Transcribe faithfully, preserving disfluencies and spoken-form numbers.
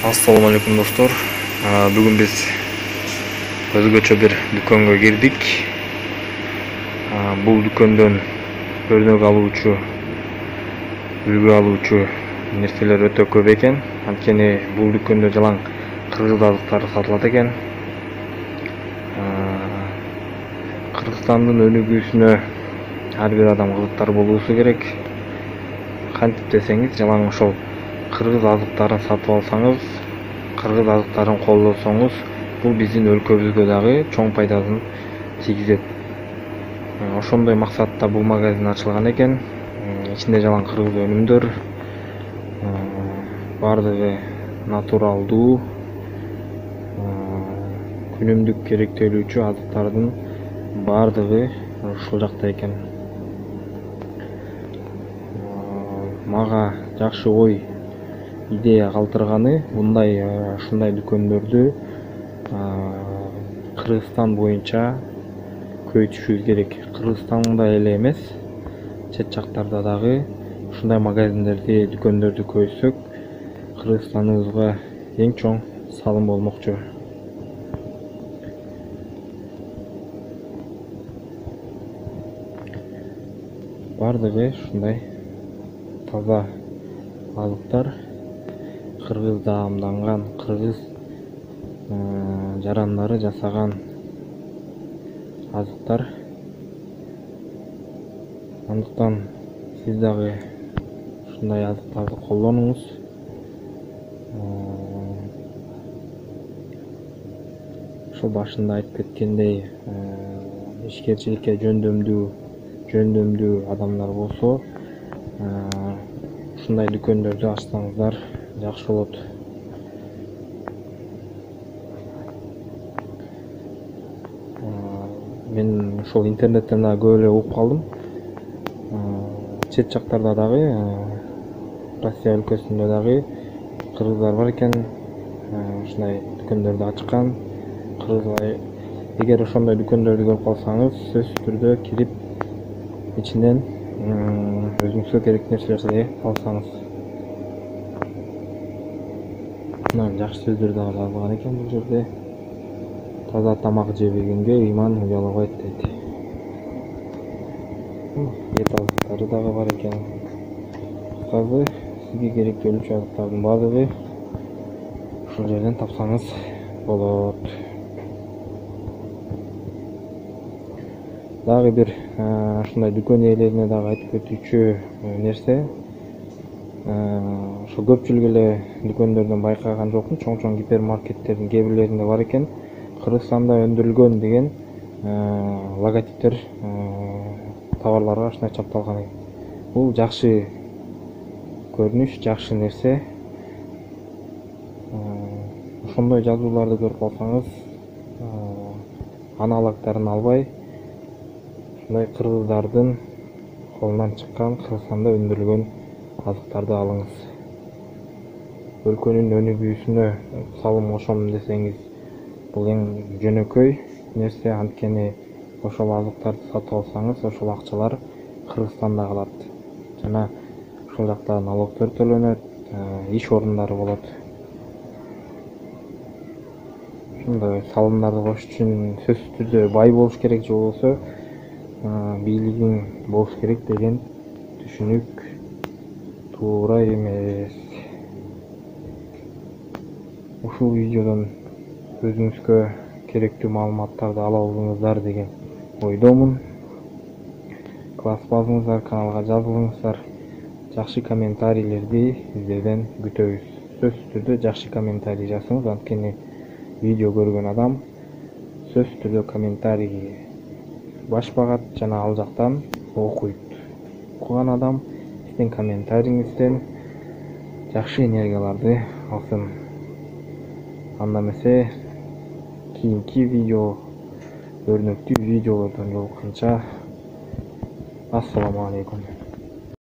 Assalamu alaikum dostlar. Bugün biz özgöçө bir dükkanга girdik. Бул дүкөндөн өрнөк алуучу, үлгү алуучу нерселер өтө көп экен. Анткени бул дүкөндө жалаң кыргыз азыктары сатылат экен. Кыргызстандын өнүгүүсүнө ар бир адам кызыктар болуусу керек. Кантип десеңиз, жалаң ошол кыргыз азыктарын сатып алсаңыз, кыргыз азыктарын колдосоңуз, бул биздин өлкөбүзгө дагы чоң пайдасын тийгизет. Ошондой максатта бул магазин ачылган экен. Ичинде жалаң кыргыз өнүмдөр, бардыгы натуралдуу, күнүмдүк керектелүүчү азыктардын бардыгы ушул жакта экен. Мага жакшы ой, идея калтырганы, мындай ушундай дүкөндөрдү Кыргызстан боюнча көбөйтүшүбүз керек. Кыргызстанда эле эмес, чет жактарда дагы ушундай магазиндерди, дүкөндөрдү көбөйтсөк, Кыргызстаныбызга эң чоң салым болмокчу. Бардыгы ушундай таза азыктар, кыргыз даамданган, кыргыз жарандары жасаган азыктар. Андыктан сиз дагы ушундай азыктарды колдонуңуз. Ошол башында айтып кеткендей, ишкерчиликке жөндөмдүү, жөндөмдүү адамдар болсо, ушундай дүкөндөрдү ачсаңыздар жакшы болот. Мен ошол интернеттен да көп эле угуп калдым. Чет жактарда дагы, Россия өлкөсүндө дагы кыргыздар бар экен, ушундай дүкөндөрдү ачкан. Кыргыздар, эгер ошондой дүкөндөрдү көрүп калсаңыз, сөзсүз түрдө кирип, ичинен өзүңүзгө керектүү нерселерди алсаңыз. Мына жакшы сөздөр дагы жазылган экен бул жерде. Таза тамак жебегенге ыйман уялабайт дейт. Эт азыктары дагы бар экен. Кыскасы, сизге керектелүүчү азыктардын баардыгы ушул жерден тапсаңыз болот. Дагы бир ушундай дүкөн ээлерине дагы айтып өтүүчү нерсе, ошо көпчүлүк эле дүкөндөрдөн байкаган жокмун, чоң-чоң гипермаркеттердин кээ бирлеринде бар экен. Кыргызстанда өндүрүлгөн деген логотиптер товарларга ушундай чапталган экен. Бул жакшы көрүнүш, жакшы нерсе. Ошондой жазууларды көрүп калсаңыз, аналогдорун албай, ушундай кыргыздардын колунан чыккан, Кыргызстанда өндүрүлгөн азыктарды алыңыз. Өлкөнүн өнүгүүсүнө салым кошом десеңиз, бул эң жөнөкөй нерсе. Анткени ошол азыктарды сатып алсаңыз, ошол акчалар Кыргызстанда калат. Жана ошол жакта налогдор төлөнөт, иш орундары болот. Ушундай салымдарды кошуш үчүн сөзсүз түрдө бай болуш керек, же болбосо бийлигиң болуш керек деген түшүнүк туура эмес. Ушул видеодон өзүңүзгө керектүү маалыматтарды ала алдыңыздар деген ойдомун. Класс базыңыздар, каналга жазылыңыздар. Жакшы комментарийлерди сиздерден күтөбүз. Сөзсүз түрдө жакшы комментарий жазыңыз, анткени видео көргөн адам сөзсүз түрдө комментарий баш багат жана ал жактан окуйт. Окуган адам сиздин комментариңизден жакшы энергияларды алсын. Анда эмесе кийинки видео, өрнөктүү видеолордон жолукканча, ассаламу алейкум.